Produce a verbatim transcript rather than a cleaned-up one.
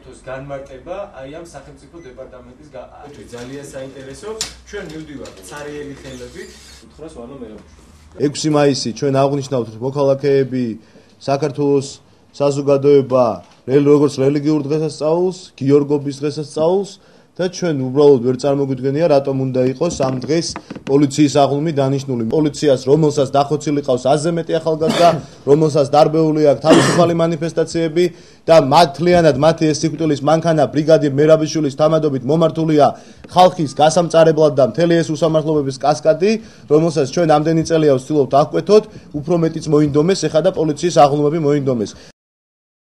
საერთოს განმარტება აი ამ სახელმწიფო დეპარტამენტის ძალიან საინტერესო ჩვენ მივდივართ ცარიელი ხელებით უთხრას ვანო მერაბუშვილი ექვსი მაისი ჩვენ აღნიშნავთ მოქალაქეები საქართველოს საზოგადოება როგორც რელიგიურ დღესასწაულს გიორგობის დღესასწაულს და ჩვენ უბრალოდ ვერ წარმოგვიდგენია რატომ უნდა იყოს ამ დღეს პოლიციის აღლუმი დანიშნული პოლიციას რომელსაც დახოცილი ყავს ათზე მეტი ახალგაზრდა რომელსაც დარბეული აქვს თავისუფალი მანიფესტაციები და მართლიანად მათი ეს სიკვდილის მანქანა ბრიგადირ მერაბიშვილის თანადობით მომართულია ხალხის გასამწარებლად და მთელი ეს უსამართლობების კასკადი რომელსაც ჩვენ ამდენი წელია ვცდილობთ აღკვეთოთ უფრო მეტიც მოინდომეს ეხლა და პოლიციის აღლუმები მოინდომეს